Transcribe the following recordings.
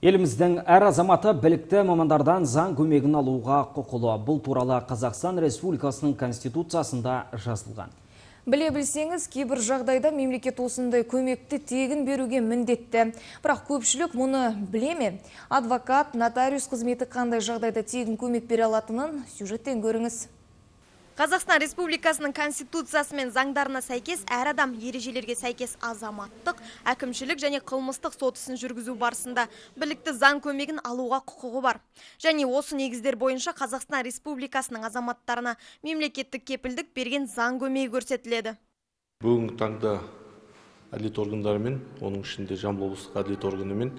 Еліміздің әр азаматы білікті мамандардан заң көмегін алуға құқылы. Бұл туралы Қазақстан Республикасының Конституциясында жазылған. Біле білсеңіз, кейбір жағдайда мемлекет осындай көмекті тегін беруге міндетті. Бірақ көпшілік мұны біле ме? Адвокат, нотариус қызметі қандай жағдайда тегін көмек бере алатынын сюжеттен көріңіз. Қазақстан Республикасының Конституциясы мен заңдарына сәйкес әр адам ережелерге сәйкес азаматтық, әкімшілік және қылмыстық сот ісін жүргізу барысында білікті заң көмегін алуға құқығы бар. Және осы негіздер бойынша Қазақстан Республикасының азаматтарына мемлекеттік кепілдік берген заң көмегі көрсетіледі. Бүгінгі таңда әділет органдарымен, оның ішінде Жамбыл облыстық әділет органымен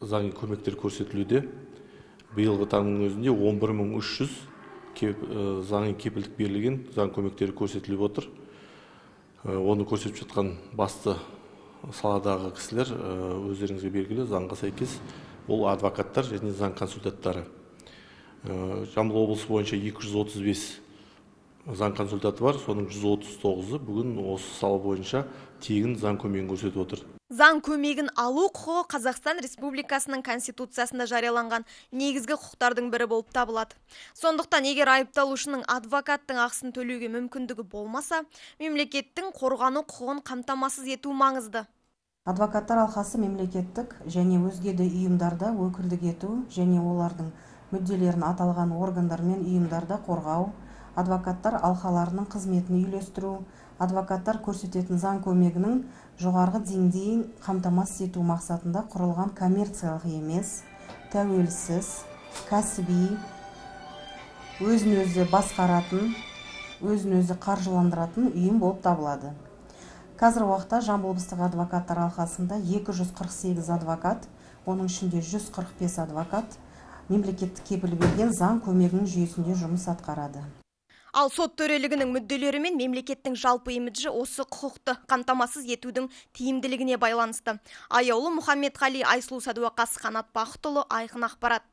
заң көмектер көрсетілуде. Биылғы таңның өзінде 11.300 заңы кепілдік берілген заң көмектері көрсетіліп отыр. Оны көрсетіп жатқан басты саладағы кісілер өздеріңізге белгілі заңға сәйкес ол адвокаттар және заң консультаттары. Жамбыл облысы бойынша 235 заң консультаты бар, соның 139-ы бүгін осы сала бойынша тегін заң көмегін көрсетіп отыр. Заң көмегін алу құқығы Қазақстан Республикасының Конституциясында жарияланған негізгі құқықтардың бірі болып табылады. Сондықтан, егер айыпталушының адвокаттың ақысын төлеуге мүмкіндігі болмаса, мемлекеттің қорғану құқығын қамтамасыз ету маңызды. Адвокаттар алқасы мемлекеттік және өзге де ұйымдарда өкілдік ету және олардың мүдделерін аталған органдар мен ұйымдарда қорғау, адвокаттар алқаларының қызметін үйлестіру, адвокаттар көрсететін заң көмегінің жоғарғы деңгейін қамтамасыз ету мақсатында құрылған коммерциялық емес, тәуелсіз, кәсіби, өзін-өзі басқаратын, өзін-өзі қаржыландыратын ұйым болып табылады. Қазір уақытта Жамбыл облыстық адвокаттар алқасында 248 адвокат, оның ішінде 145 адвокат мемлекеттік кепіл берген заң көмегінің жүйесінде жұмыс атқарады. Ал сот төрелігінің мүдделері мен мемлекеттің жалпы имиджі осы құқықты қамтамасыз етудің тиімділігіне байланысты. Аяулы Мұхаммедқали, Айсұлу Сәдуақас, Қанат Бақытұлы, Айқын ақпарат.